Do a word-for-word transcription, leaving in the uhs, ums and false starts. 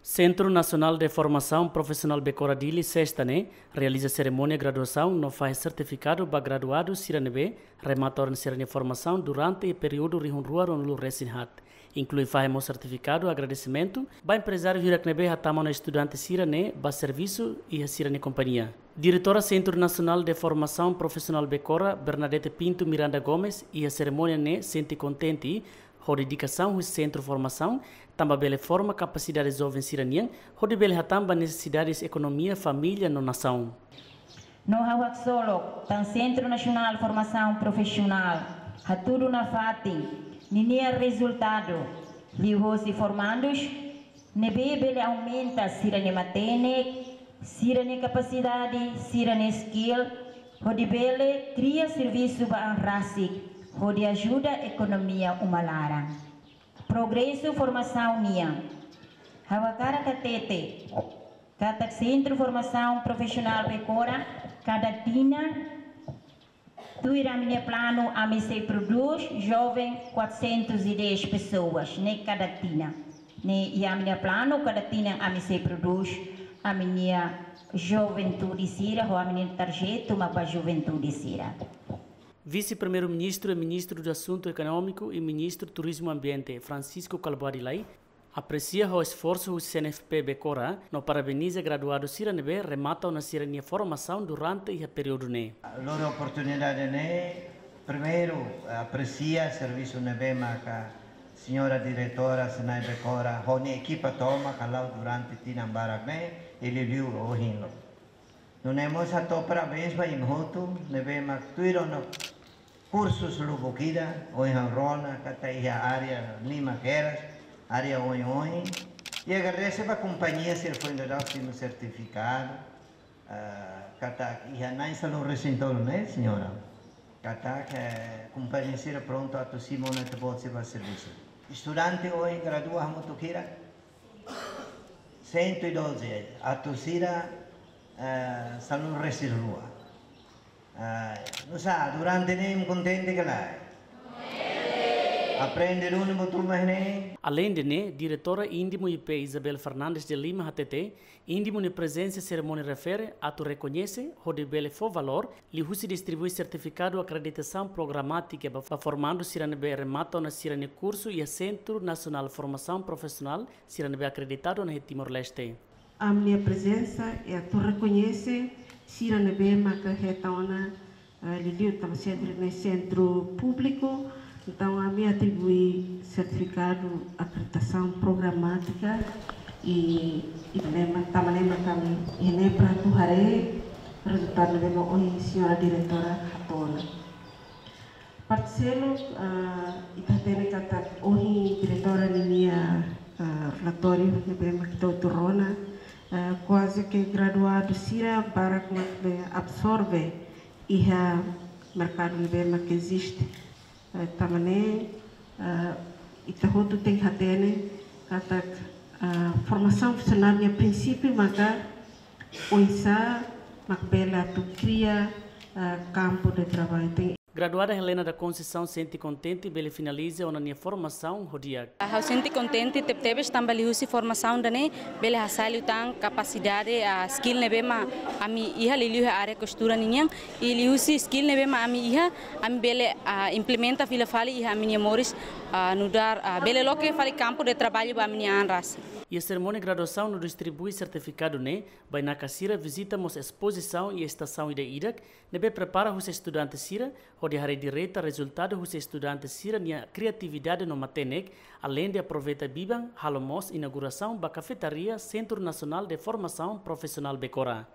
Sentru Nasionál de Formasaun Profisionál Becora Dili, sesta ne'e, realiza serimónia graduasaun no fahe sertifikadu ba graduadu sira ne'ebé remata ona sira-nia formasaun durante períodu rihun rua ruanulu resin haat. Inklui fahe mós sertifikadu agradesimentu ba emprezáriu hirak ne'ebé hatama ona estudante sira ne'e ba servisu iha sira-nia kompañia. Diretora Sentru Nasionál de Formasaun Profisionál Becora, Bernadette Pinto Miranda Gomes, iha serimónia ne'e sente kontente ho dedikasaun husi sentru formasaun, tanba bele forma kapasidade joven sira-nian, hodi bele hatán ba nesesidades ekonomia, família no nasaun. No ha'u haksolok tan Sentru Nasionál Formasaun Profisionál hatudu nafatin ninia rezultadu liuhosi formandus ne'ebé bele aumenta sira-nia matenek, sira-nia kapasidade, sira-nia skill, hodi bele kria servisu ba an rasik, hodi ajuda ekonomia uma laran. Progresu formasaun nian. Ha'u hakarak hatete katak Sentru Formasaun Profisionál Becora, kada tinan, tuir ami-nia planu, ami sei prodús joven quatrocentos e dez pessoas, ne'e kada tinan. Ne'e iha ami-nia planu, kada tinan ami sei prodús ami-nia juventude sira, ho ami-nia tarjetu mak ba juventude sira. Vise-Primeiru-Ministru e Ministru do Assunto Económico e Ministru Turizmu Ambiente, Francisco Kalbuadi Lay, apresia ho esforsu husi C N F P Becora no parabeniza graduadu sira ne'ebé remata ona sira-nia formasaun durante iha períodu ne'e. Lori oportunidade ne'e, primeiru, apresia servisu ne'ebé maka señora diretora Senai Becora ho nia ekipa tomak hala'o durante tinan barak ne'e, i liuliu ohin loron. Nune'e mós hato'o parabéns ba imi hotu ne'ebé mak tuir ona kursus lubuk ida, ohin ha'u rona katak iha área lima kedas, área oioin. I agradese ba kompañia sira foin daudaun simu sertifikadu, ah, katak iha na'in sanulu-resin-tolu ne'e, señora. Katak, eh, kompañia sira prontu atu simu ona ita-boot sira ba servisu. Estudante ohin gradua hamutuk hira? Cento e doze, atu sira, eh, sanulu-resin-rua. Eh, nusá, durante ne'e imi kontente ka lae? Aprende duni buat ruma ne'e? Aleinde ne'e, Diretora Indimu I P Isabel Fernandes de Lima hatete, Indimu nia prezensa iha serimónia refere atu rekoñese, hodi bele fó valór, liuhusi distribui sertifikadu akreditasaun programátika ba, ba formandu sira ne'ebé remata ona sira-nia kursu iha Sentru Nasionál Formasaun Profisionál, sira ne'ebé akreditadu ona iha Timor-Leste. Ami-nia prezensa é atu rekoñese sira ne'ebé maka hetan ona, eh, liuliu tanba sentru ne'e sentru públiku, entaun ami atribui sertifikadu akreditasaun programátika i, i ne'e mak, tanba ne'e mak ami iha ne'e para atu haree rezultadu ne'ebé mak ohin señora diretora hato'o ona. Parte seluk, ah, ita hatene katak ohin diretora ninia, ah, relatóriu ne'ebé mak ita hotu rona, ah, kuaze ke graduadu sira barak mak bele absorve iha merkadu ne'ebé mak eziste. Eh, tanba ne'e, ah, ita hotu tenke hatene katak, ah, formasaun profisionál nia prinsípiu maka oinsá mak bele atu kria, ah, kampu de traballu. Ten- Graduada Helena da Conceição sente kontente bele finaliza ona nia formasaun ho di'ak. Ha'u sente kontente tebetebes tanba liuhusi formasaun ida-ne'e bele hasai liután kapasidade, ah, skill ne'ebé mak ami iha liuliu iha área kostura ninian, i liuhusi skill ne'ebé mak ami iha, ami bele, ah, implementa fila fali iha ami-nia moris, ah, nu'udar, ah, bele loke fali kampu de traballu ba ami-nia an rasik. Iha serimónia graduasaun no distribui sertifikadu ne'e, bainaka sira vizita mós espozisaun iha estasaun ida-idak, ne'ebé prepara husi estudante sira, hodi haree direta rezultadu husi estudante sira-nia kriatividade no matenek, aleinde aproveita biban, halo mós inaugurasaun ba kafetaria Sentru Nasionál de Formasaun Profisionál Becora.